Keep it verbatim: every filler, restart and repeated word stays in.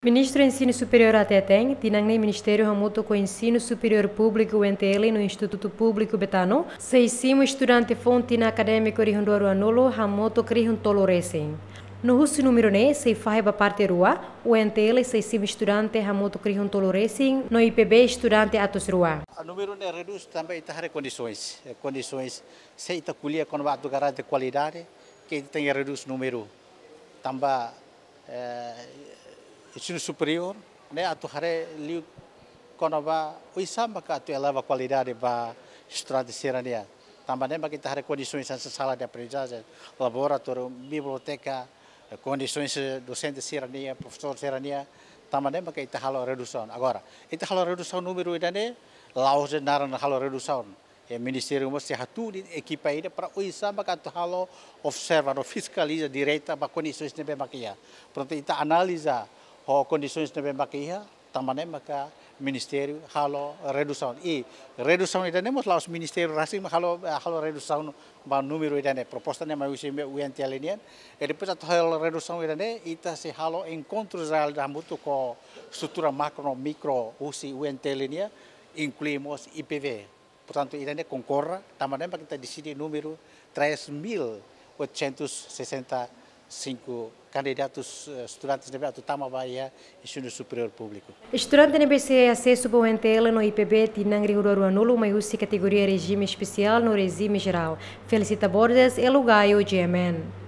Ministru Ensinu Superiór hateten, tinan ne'e Ministériu hamutuk ho Ensinu Superiór Públiku U N T L no Institutu Públiku Betano sei simu estudante foun tinan akadémiku rihun rua ruanulu hamutuk rihun tolu resin. No husi númeru ne'e sei fahe ba parte rua, U N T L sei simu estudante hamutuk rihun tolu resin, no I P B estudante atus rua. Númeru ne'e redús tanba ita haree kondisoens, eh, kondisoens se ita ko'alia kona-ba atu garante kualidade, ke ita tenke redús númeru. Tanba, eh, ensinu superiór ne'e atu haree liu kona-ba oinsá maka atu eleva kualidade ba estudante sira-nian. Tanba ne'e maka ita haree kondisoens hanesan sala de aprendizajen, laboratóriu, biblioteka, eh, kondisoens, eh, dosente sira-nian, profesór sira-nian. Tanba ne'e maka ita halo redusaun. Agora, ita halo redusaun númeru ida-ne'e, la'ós de'it naran halo redusaun. Eh, ministériu mós sei hatudu ekipa ida para oinsá maka atu halo observa no fiskaliza direta ba kondisoens ne'ebé maka iha. Portantu, ita analiza ho kondisoens ne'ebé maka iha, tanba ne'e maka ministériu halo redusaun. I redusaun ida-ne'e mós la'ós ministériu rasik mak halo, halo redusaun ba númeru ida-ne'e. Proposta ne'e mai husi U N T L nian. I depois atu halo redusaun ida-ne'e, ita sei halo enkontru jerál hamutuk ho estrutura makro no mikro husi U N T L nian, inklui mós I P B. Portantu, ida-ne'e konkorda, tanba ne'e maka ita deside númeru três mil oitocentos e sessenta e cinco candidatos, eh, estudantes ne'ebé atu tama ba iha ensinu superiór públiku. Estudante ne'ebé sei asesu ba U N T L no I P B tinan rihun rua ruanulu mai husi kategoria rejime espesiál no rejime jerál. Felicita Borges, Elo Gaio, G M N.